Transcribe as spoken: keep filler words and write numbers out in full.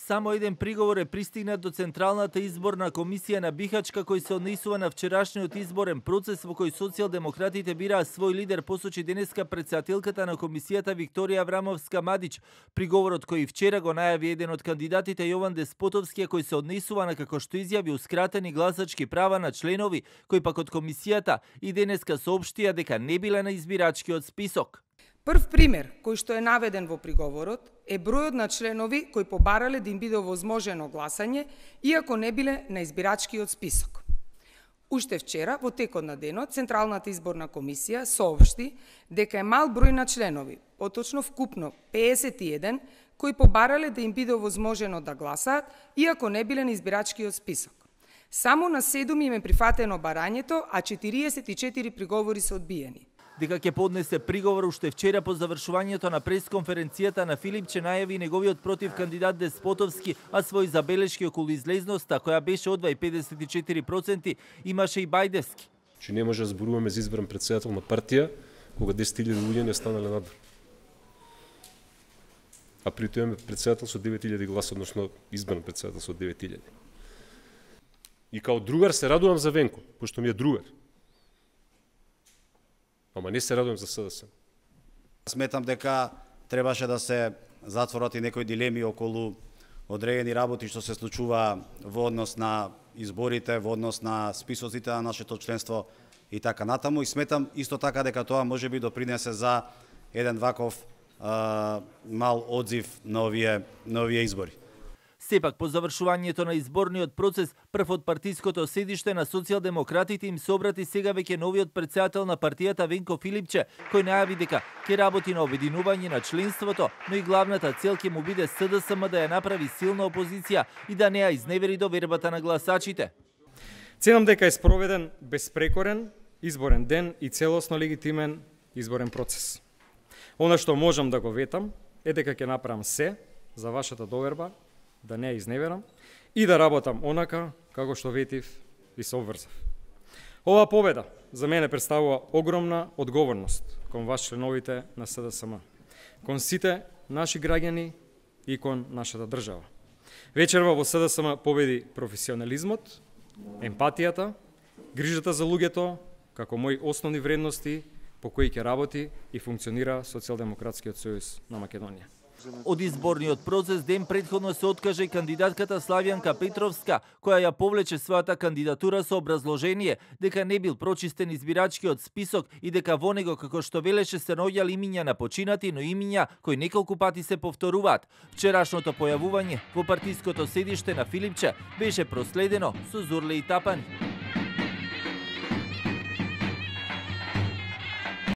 Само еден приговор е пристигнат до Централната изборна комисија на Бихачка, кој се однесува на вчерашниот изборен процес во кој социјалдемократите бираа свој лидер, посочи денеска претседателката на комисијата Викторија Аврамовска-Мадич. Приговорот кој вчера го најави еден од кандидатите Јован Деспотовски, кој се однесува на, како што изјави, ускратени гласачки права на членови, кои пак од комисијата и денеска соопштија дека не биле на избирачкиот список. Прв пример кој што е наведен во приговорот е бројот на членови кои побарале да им биде овозможено гласање, иако не биле на избирачкиот список. Уште вчера, во текот на денот, Централната изборна комисија соопшти дека е мал број на членови, поточно вкупно пеесет и еден, кои побарале да им биде овозможено да гласаат, иако не биле на избирачкиот список. Само на седум им е прифатено барањето, а четириесет и четири приговори се одбиени. Дека ќе поднесе приговор уште вчера по завршувањето на пресконференцијата на Филипче најави неговиот против кандидат Деспотовски, а свои забелешки околу излезноста, која беше од педесет и четири проценти, имаше и Бајдевски. Че не може да зборуваме за избран претседател на партија, кога десет илјади луѓе не останале надвор. А при тоа имаме претседател со девет илјади гласа, односно избран претседател со девет илјади. И као другар се радувам за Венко, пошто ми е другар. Ама не се радувам за СДСМ. Сметам дека требаше да се затворат и некои дилеми околу одредени работи што се случува во однос на изборите, во однос на списоците на нашето членство и така натаму. И сметам исто така дека тоа може би допринесе за еден ваков а, мал одзив на овие, на овие избори. Сепак, по завршувањето на изборниот процес, прв од партиското седиште на социјалдемократите им се обрати сега веќе новиот претседател на партијата Венко Филипче, кој најави дека ќе работи на обединување на членството, но и главната цел ќе му биде СДСМ да ја направи силна опозиција и да не ја изневери довербата на гласачите. Ценам дека е спроведен безпрекорен изборен ден и целосно легитимен изборен процес. Она што можам да го ветам е дека ќе направам се за вашата доверба, да не ја изневерам и да работам онака како што ветив и се обврзав. Оваа победа за мене представува огромна одговорност кон вас членовите на СДСМ, кон сите наши граѓани и кон нашата држава. Вечерва во СДСМ победи професионализмот, емпатијата, грижата за луѓето како мои основни вредности по кои ќе работи и функционира Социјалдемократскиот сојуз на Македонија. Од изборниот процес ден претходно се откаже и кандидатката Славјанка Петровска, која ја повлече својата кандидатура со образложение дека не бил прочистен избирачкиот список и дека во него, како што велеше, се наоѓали имиња на починати, но имиња кои неколку пати се повторуваат. Вчерашното појавување во партиското седиште на Филипче беше проследено со зурле и тапани.